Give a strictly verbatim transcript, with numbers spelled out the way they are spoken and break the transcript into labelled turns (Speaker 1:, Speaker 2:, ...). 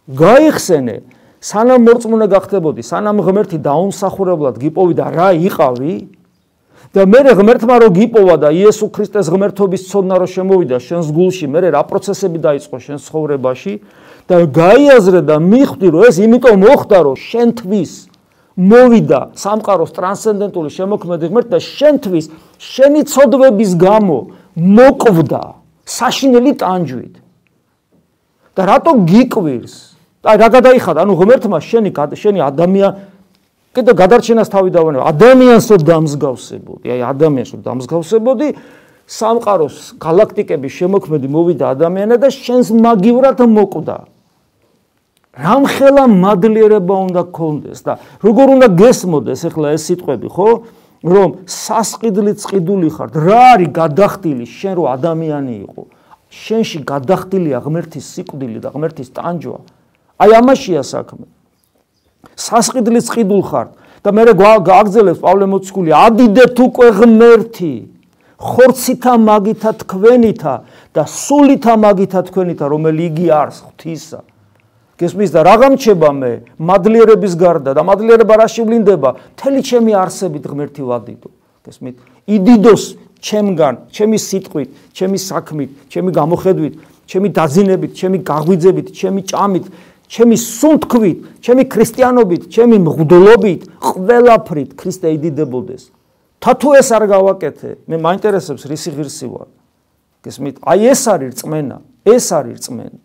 Speaker 1: გაიხსენე, სანამ მორწმუნე გახდებოდი, სანამ ღმერთი დაუმსახურებლად გიპოვიდა რა იყავი და მე ღმერთმა რო გიპოვა და იესო ქრისტეს ღმერთობის ცოდნა რო შემოვიდა შენს გულში, მე რა პროცესები დაიწყო შენს ცხოვრებაში და გაიაზრე და მიხვდი რომ ეს იმიტომ მოხდა რომ შენთვის მოვიდა სამყაროს ტრანსცენდენტული შემოქმედი ღმერთი და შენთვის შენი ცოდვების გამო მოკვდა საშინელი ტანჯვით და რატო გიკვირს და რა გადაიხადა ანუ ღმერთმა შენი შენი ადამიან კიდე გადარჩენას თავი დავანება ადამიანს რო დამსგავსებოდი აი ადამიანს რო დამსგავსებოდი სამყაროს galaktikების შემოქმედი მოვიდა ადამიანად და შენს მაგივრად მოკვდა რამხელა მადლიერება უნდა გქონდეს და როგორ უნდა გესმოდეს ახლა ეს სიტყვები ხო რომ სასყიდლით წყიდული ხარ რა არის გადახდილი შენ რო ადამიანი იყო შენში გადახდილია ღმერთის სიკვდილი და ღმერთის ტანჯვა აი ამაშია საქმე სასყიდლით წყიდულ ხარ და მე გააგზელებს პავლე მოციქული ადიდეთ უკვე ღმერთი ხორცითა მაგითა თქვენითა და სულითა მაგითა თქვენითა რომელი იგი არის ღვთისა გესმის და რა გამჩება მე მადლიერების გარდა და მადლიერება რა შევლინდება მთელი ჩემი არსებით ღმერთი ვადიდო გესმით იდიდოს ჩემგან ჩემი სიტყვით ჩემი საქმით ჩემი გამოხედვით ჩემი დაძინებით ჩემი გაღვიძებით ჩემი ჭამით ჩემი სუნთქვით ჩემი ქრისტიანობით ჩემი მღვდლობით ყველაფრით ქრისტე იდიდებოდეს თათუ ეს არ გავაკეთე მე მაინტერესებს რისი ღირსი ვარ გესმით აი ეს არის რწმენა ეს არის რწმენა